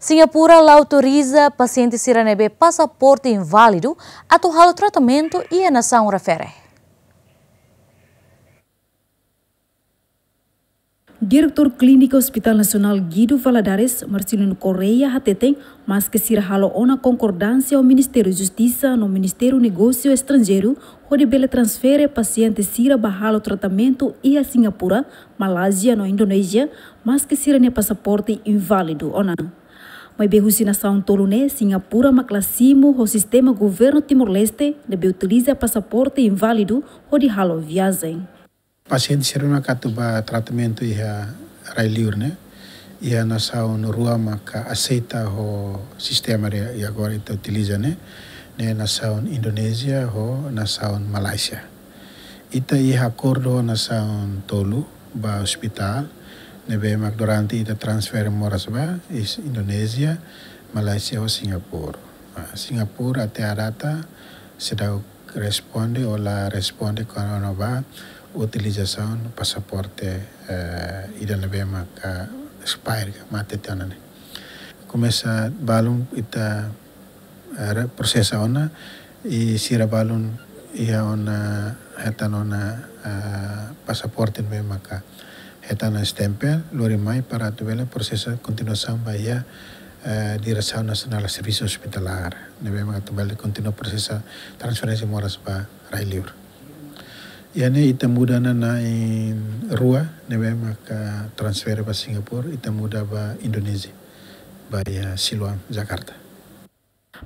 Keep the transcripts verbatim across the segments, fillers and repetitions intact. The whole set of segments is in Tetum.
Singapura la autoriza pasiente sira ne'ebé pasaporte inválidu atu halo tratamentu iha nasaun refere. Diretór Klíniku Hospital Nasionál Guido Valadares, Marcelino Correia, hateten, maske sira halo ona konkordánsia ho Ministériu Justisa no Ministériu Negósiu Estranjeiru, hodi bele transfere pasiente sira ba halo tratamentu iha Singapura, Malázia no Indonézia, maske sira-nia pasaporte inválidu ona. Maibé husi nasaun tolu ne'e, Singapura mak la simu ho sistema governu Timor-Leste, ne'ebé utiliza pasaporte inválidu hodi halo viajen. Pasiente sira ne'ebé atu ba tratamentu iha rai-liur ne'e, iha nasaun rua maka aseita ho sistema ne'ebé agora ita utiliza ne'e, ne'e nasaun Indonézia ho nasaun Malázia. Ita iha akordu ho nasaun tolu ba ospitál, ne'ebé mak durante ita transfere moras ba, iha Indonézia, Malázia ho Singapura. Ah, Singapura até à data seidauk responde ou la responde kona-ba utilizasaun pasaporte, eh, ida ne'ebé maka expire ka mate tiha ona ne'e. Komesa balun ita, eh, re-, prosesa ona, i sira balun iha ona, hetan ona, eh, pasaporte ne'ebé maka hetan ona stempel, lori mai para atu bele prosesa kontinuasaun ba iha, eh, Diresaun Nasionál Servisu Ospitalár, ne'ebé mak atu bele kontinua prosesa transferénsia moras ba rai-liur. Iha ne'e ita muda ona na'in-rua, ne'ebé maka transfere ba Singapura, ita muda ba Indonézia, ba iha Siloam, Jakarta.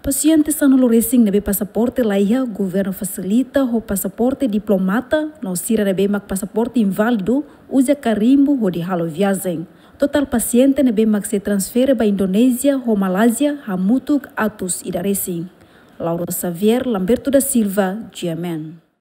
Pasiente sanulu-resin ne'ebé pasaporte laiha, governu fasilita ho pasaporte diplomata, no sira ne'ebé mak pasaporte inválidu, uza karimbu hodi halo viajen. Totál pasiente ne'ebé mak sei transfere ba Indonézia ho Malázia hamutuk atus ida-resin. Laura Xavier, Lamberto da Silva, G M N.